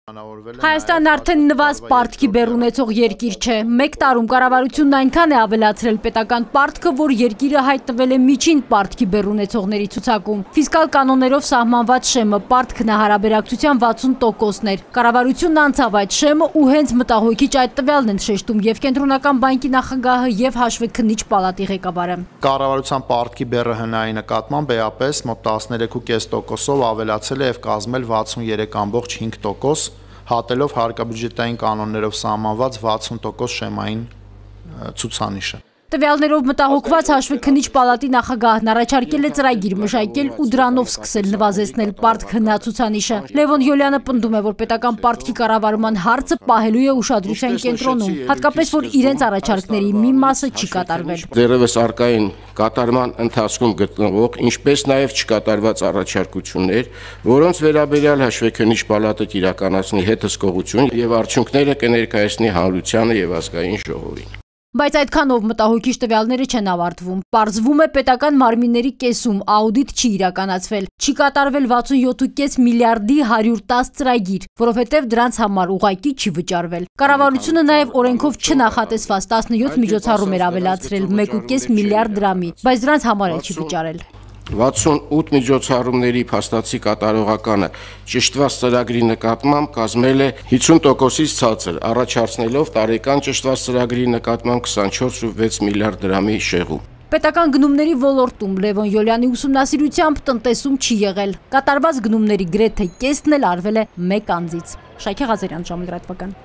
Հայաստանն արդեն նվազ պարտքի բեռ ունեցող երկիր չէ։ Մեկ տարում կառավարությունն այնքան է ավելացրել պետական պարտքը, որ երկիրը հայտնվել է միջին պարտքի բեռ ունեցողների ցուցակում։ Ֆիսկալ կանոններով սահմանված շեմը պարտքն հարաբերակցության 60%-ն էր։ Կառավարությունն անցավ այդ շեմը ու հենց մտահոգիչ այդ տվյալն են շեշտում եւ Կենտրոնական բանկի նախագահը եւ հաշվեկնիչ պալատի ղեկավարը։ Կառավարության պարտքի բեռը հնայի նկատմամբ էապես մոտ 13.5%-ով ավելացել է եւ կազմել 63.5%, հատելով հարկաբյուջետային կանոններով սահմանված 60% շեմային ցուցանիշը։ Տվյալներով մտահոգված հաշվեկնիչ պալատի նախագահն առաջարկել է ծրագիր մշակել ու դրանով սկսել նվազեցնել պարտք հնացուցանիշը։ Լևոն Յոլյանը պնդում է, որ պետական պարտքի կառավարման հարցը պահելու է ուշադրության կենտրոնում, հատկապես որ իրենց առաջարկների մի մասը չի կատարվել։ Դեռևս արկային կատարման ընթացքում գտնվող, ինչպես նաև չկատարված առաջարկություններ, որոնց վերաբերյալ հաշվեկնիչ պալատը կիրականացնի հետզկողություն եւ արդյունքները կներկայացնի հանրությանը եւ ազգային ժողովին։ Բայց այդքանով մտահոգիչ տվյալները չեն ավարտվում։ Պարզվում է պետական մարմինների կեսում աուդիտ չի իրականացվել, չի կատարվել 67.5 միլիարդի 110 ծրագիր, որովհետև դրանց համար ուղղակի չի վճարվել։ Կառավարությունը նաև օրենքով չնախատեսված 17 միջոցառում էր ավելացրել 1.5 միլիարդ դրամի, բայց դրանց համար էլ չի վճարել։ 68 միջոցառումների փաստացի կատարողականը ճշտված ծրագրի նկատմամբ կազմել է 50%-ից ցածր, առաջացնելով տարեկան ճշտված ծրագրի նկատմամբ 24.6 միլիարդ դրամի շեղում։ Պետական գնումների ոլորտում Լևոն Յոլյանի ուսումնասիրությամբ տնտեսում չի եղել։ Կատարված գնումների գրեթե կեսն էլ արվել է մեկ անձից։ Շայքի Ղազարյան, ժամը լրատվական։